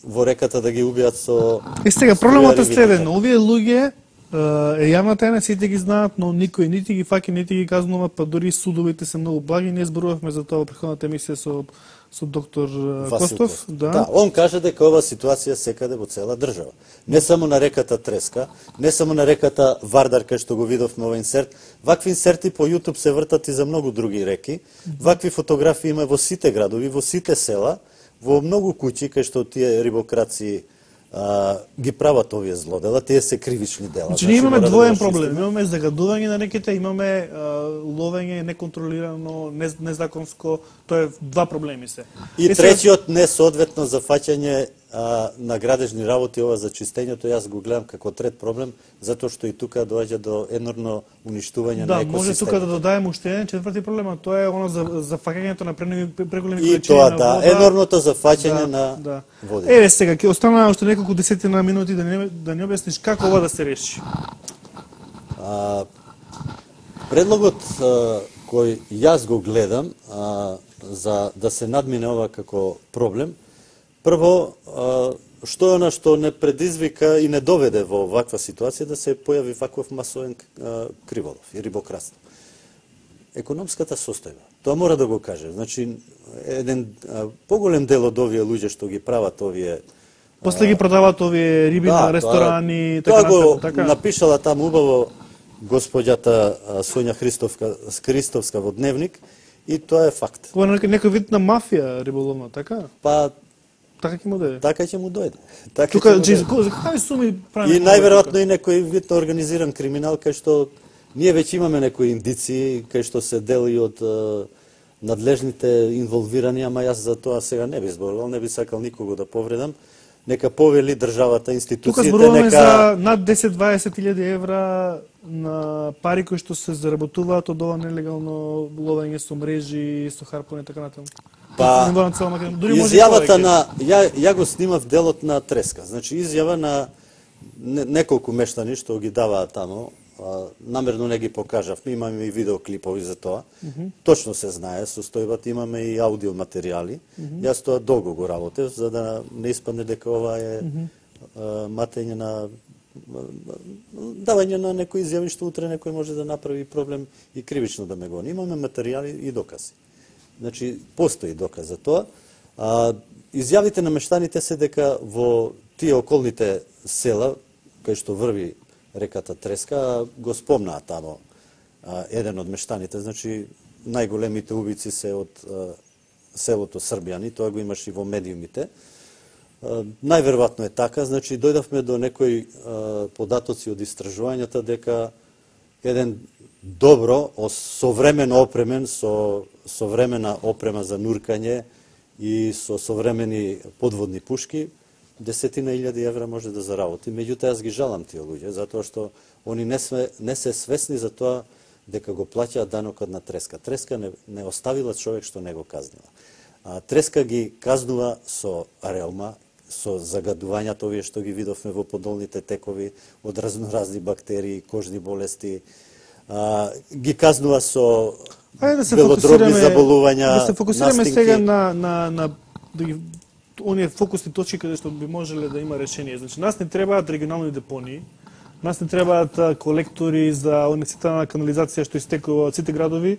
во реката да ги убијат со... И сега, проблемот е следен. Овие луѓе е јавна тајна, сите ги знаат, но никој нити ги фаќа, нити ги казнува, па дури судовите се многу благи. Ние зборувавме за тоа во претходната емисија со, со доктор Васил Костов. Да. да, он каже дека ова ситуација секаде во цела држава. Не само на реката Треска, не само на реката Вардар, кај што го видовме овој инсерт. Вакви инсерти по YouTube се вртат и за многу други реки. Вакви фотографии има во сите градови, во сите села, во многу куќи кај што тие рибокраци а, ги прават овие злодела, тие се кривични дела. Значи, ние имаме двоен проблем. Имаме загадување на реките, имаме а, ловење неконтролирано, незаконско, тоа е два проблеми се. И е, третиот несоодветно зафаќање а, на градежни работи, ова за чистењето, јас го гледам како трет проблем, затоа што и тука доаѓа до енорно уништување да, на екосистемите. Да, може тука да додадеме уште еден четврти проблем, а тоа е оно за зафаќањето на преголеми количини на вода. И тоа, да, енорното зафаќање да, на да. вода. Еве сега, ќе остана уште неколку десетина минути да не да не објасниш како ова да се реши. А, предлогот а, кој јас го гледам а, за да се надмине ова како проблем, прво, што е она што не предизвика и не доведе во ваква ситуација да се појави ваков масовен криволов и рибократство? Економската состојба. Тоа мора да го каже. Значи, еден поголем дел од овие луѓе што ги прават овие После ги продаваат овие риби да, на ресторани, тоа, така тоа го така. напишала таму убаво госпоѓата Сонја Христовска, Христовска во Дневник и тоа е факт. Ова е некој вид на мафија риболовна, така? Па така ќе му дојде. Така ќе му дојде. Така Тука за какви суми прави? И најверојатно и некој вид на организиран криминал кај што ние веќе имаме некои индиции кај што се дели од uh, надлежните инволвирани, ама јас за тоа сега не би зборувал, не би сакал никого да повредам. Нека повели државата, институциите, тука зборуваме нека за над десет-дваесет илјади евра на пари кои што се заработуваат од ова нелегално ловење со мрежи, со харпуни и така натаму. Па, изјавата на, ја, ја го снимав делот на Треска, значи изјава на не, неколку мештани што ги даваат тамо, а, намерно не ги покажавме, имаме и видеоклипови за тоа, mm -hmm. точно се знае состојбата, имаме и аудио материјали, mm -hmm. јас тоа долго го работев, за да не испадне дека ова е mm -hmm. а, матење на давање на некои изјави што утре некој може да направи проблем и кривично да ме гони. Имаме материјали и докази. Значи, постои доказ за тоа. А, изјавите на мештаните се дека во тие околните села, кај што врви реката Треска, го спомнаа тамо а, еден од мештаните. Значи, најголемите убици се од а, селото Србјани, тоа го имаш и во медиумите. А, најверојатно е така, значи, дојдавме до некои а, податоци од истражувањата дека еден добро, современо опремен, со современа опрема за нуркање и со современи подводни пушки, десетина илјади евра може да заработи. Меѓутоа, јас ги жалам тие луѓе, затоа што они не, све, не се свесни за тоа дека го плаќаат данокот на Треска. Треска не, не оставила човек што не го казнила. А, Треска ги казнува со реума, со загадувањата овие што ги видовме во подолните текови од разноразни бактерии, кожни болести, а, ги казнува со да се белодробни заболувања. Да се фокусираме сега на на на да ги оние фокусни точки каде што би можеле да има решение. Значи, нас не требаат регионални депонии, нас не требаат колектори за университетна канализација што истекува од сите градови,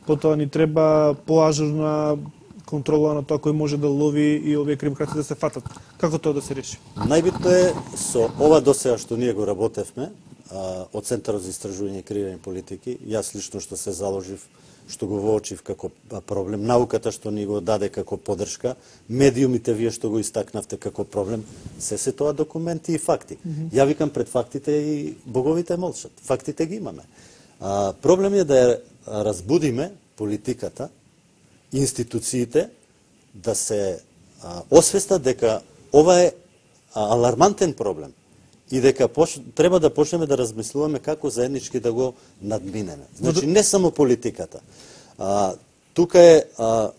потоа ни треба поажурна контрола на тоа кој може да лови и овие кримкраци да се фатат. Како тоа да се реши? Најбитно е со ова досега што ние го работевме а, од Центарот за истражување и креирање политики, јас лично што се заложив, што го воочив како проблем, науката што ни го даде како поддршка, медиумите вие што го истакнавте како проблем, се се тоа документи и факти. Mm -hmm. Ја викам пред фактите и боговите молчат. Фактите ги имаме. А, проблем е да ја разбудиме политиката, институциите да се а, освестат дека ова е а, алармантен проблем и дека пош... треба да почнеме да размислуваме како заеднички да го надминеме. Значи, не само политиката. А, тука е а,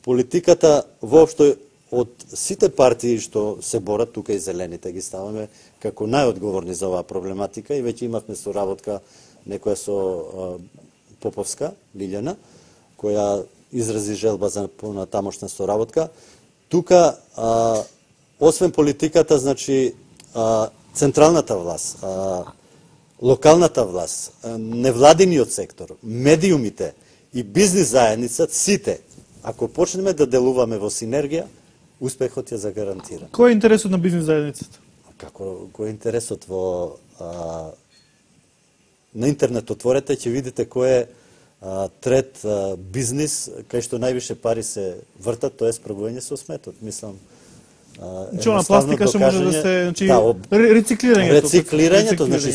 политиката воопшто од сите партии што се борат, тука и зелените ги ставаме како најодговорни за оваа проблематика и веќе имавме соработка некоја со а, Поповска, Лилјана, која изрази желба за понатамошна соработка. Тука, а, освен политиката, значи, а, централната власт, а, локалната власт, а, невладиниот сектор, медиумите и бизнис заедница, сите, ако почнеме да делуваме во синергија, успехот ја загарантира. Кој е интересот на бизнис заедницата? Како, кој е интересот во... А, на интернет отворете, ќе видите кој е а, трет а, бизнис, кај што највише пари се вртат, тоа е справување со сметот. Мислам, Чуна пластика што може да се, значи, да, рециклирањето. Рециклирањето, значи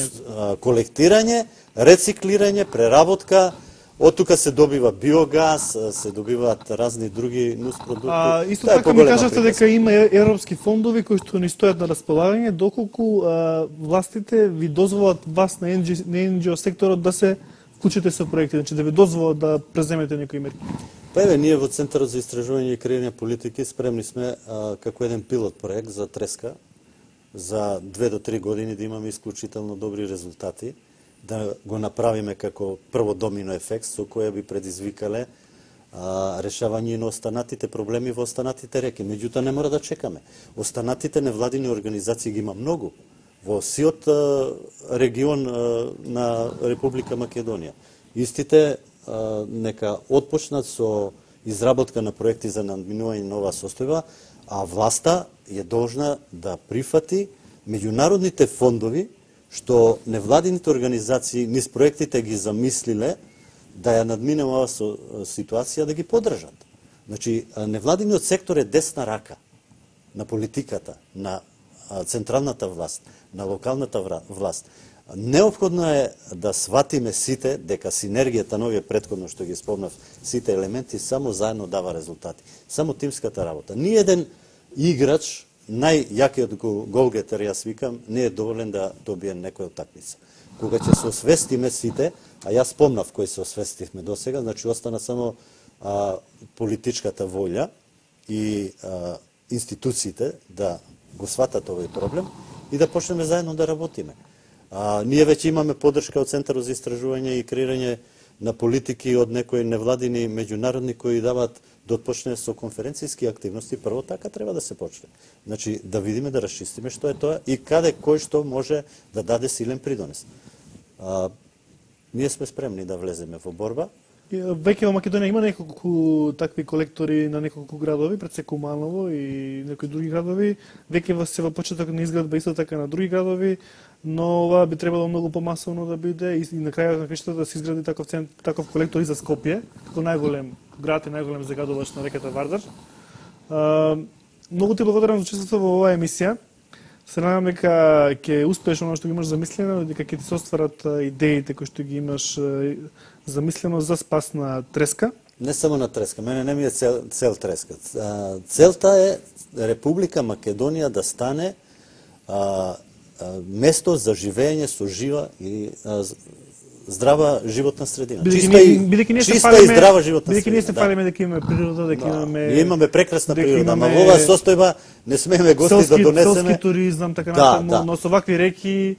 колектирање, рециклирање, преработка, од тука се добива биогаз, се добиваат разни други нуспродукти. А, исто така ми кажавте дека има европски фондови кои што ни стојат на располагање, доколку а, властите ви дозволат вас на ен џи о секторот да се вклучите со проекти, значи да ви дозволат да преземете некои мерки? Па еве, ние во Центарот за истражување и креирање политики спремни сме а, како еден пилот проект за Треска за две до три години да имаме исклучително добри резултати, да го направиме како прво домино ефект со која би предизвикале а, решавање на останатите проблеми во останатите реки. Меѓутоа не мора да чекаме. Останатите невладини организации ги има многу во сиот а, регион а, на Република Македонија. Истите а, нека отпочнат со изработка на проекти за надминување на оваа состојба, а власта е должна да прифати меѓународните фондови што невладините организации низ проектите ги замислиле да ја надминува со ситуација да ги поддржат. Значи, невладиниот сектор е десна рака на политиката, на централната власт, на локалната власт. Неопходно е да сватиме сите дека синергијата на овие претходно што ги спомнав, сите елементи само заедно дава резултати. Само тимската работа. Ни еден играч, најјакиот голгетер, јас викам, не е доволен да добие некоја утакмица. Кога ќе се освестиме сите, а јас спомнав кои се освестивме до сега, значи остана само а, политичката волја и а, институциите да го сватат овој проблем и да почнеме заедно да работиме. А, ние веќе имаме поддршка од Центарот за истражување и креирање на политики од некои невладини меѓународни кои дават да отпочне со конференцијски активности. Прво така треба да се почне. Значи да видиме, да расчистиме што е тоа и каде кој што може да даде силен придонес. А, ние сме спремни да влеземе во борба. Веќе во Македонија има неколку такви колектори на неколку градови, пред се Куманово и некои други градови. Веќе се во почеток на изградба исто така на други градови, но ова би требало многу помасовно да биде и на крајот на крајштата да се изгради таков таков колектор и за Скопје, како најголем град и најголем загадувач на реката Вардар. А, многу ти благодарам за учеството во оваа емисија. Се надам дека ќе успееш оно што ги имаш замислено, дека ќе ти се остварат идеите кои што ги имаш замислено за спас на Треска. Не само на Треска, мене не ми е цел, цел Треска. Целта е Република Македонија да стане а, а, место за живење со жива и а, здрава животна средина. Бидејќи чиста ние, и, бидејќи чиста фалиме, и здрава животна бидејќи средина. ние се фалиме дека имаме природа, дека да. имаме... Ние имаме прекрасна природа, имаме... ама во оваа состојба не смееме гости селски, да донесеме. Селски туризам, така да, натаму, да. но со вакви реки...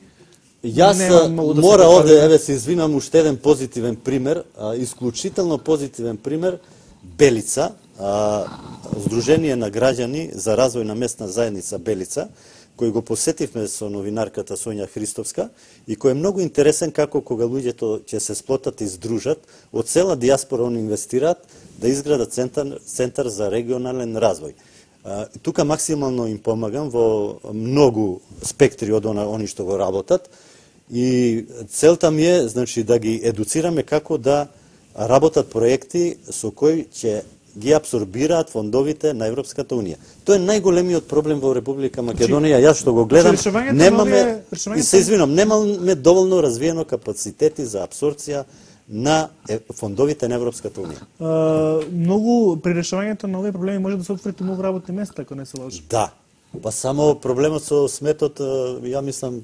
Јас да мора овде, еве се извинам, уште еден позитивен пример, а, исклучително позитивен пример, Белица, а, Сдружение на граѓани за развој на местна заедница Белица, кој го посетивме со новинарката Сонја Христовска и кој е многу интересен како кога луѓето ќе се сплотат и здружат, од цела диаспора они инвестираат да изградат центар, центар за регионален развој. А, тука максимално им помагам во многу спектри од она, они што го работат и целта ми е, значи, да ги едуцираме како да работат проекти со кои ќе ги абсорбираат фондовите на Европската унија. Тоа е најголемиот проблем во Република Македонија. Јас што го гледам, немаме, и се извинам, немаме доволно развиено капацитети за абсорбција на фондовите на Европската унија. Uh, многу при решавањето на овие проблеми може да се отворите многу работни места, ако не се лажам. Да. Па само проблемот со сметот, ја мислам,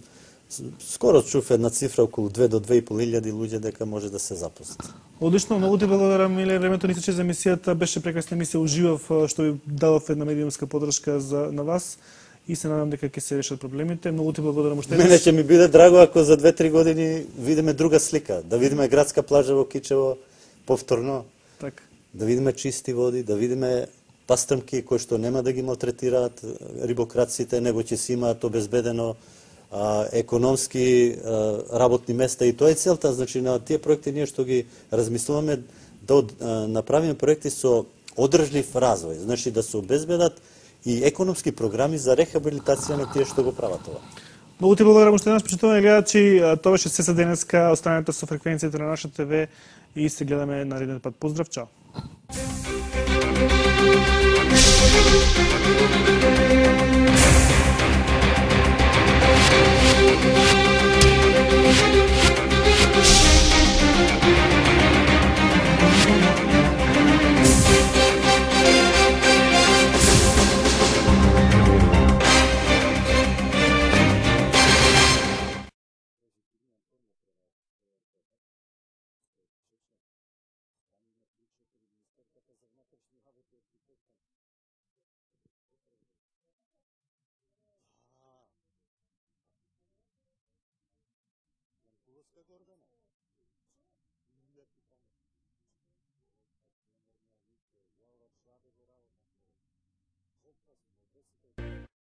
скоро чув една цифра околу две до две и пол илјади луѓе дека може да се запослат. Одлично, многу ти благодарам, Миле. Времето ни се за емисијата, беше прекрасна емисија, уживав што ви дадов една медиумска поддршка за на вас и се надам дека ќе се решат проблемите. Многу ти благодарам уште. Мене ќе ми биде драго ако за две-три години видиме друга слика, да видиме градска плажа во Кичево повторно. Така. Да видиме чисти води, да видиме пастрмки кои што нема да ги малтретираат рибокраците, него ќе си имаат обезбедено а, економски а, работни места и тоа е целта, значи на тие проекти ние што ги размислуваме да од, а, направиме проекти со одржлив развој, значи да се обезбедат и економски програми за рехабилитација на тие што го прават ова. Многу ти благодарам уште еднаш, почитувани гледачи, тоа беше се за денеска, останете со фреквенцијата на наша ТВ и се гледаме нареден пат. Поздрав, чао.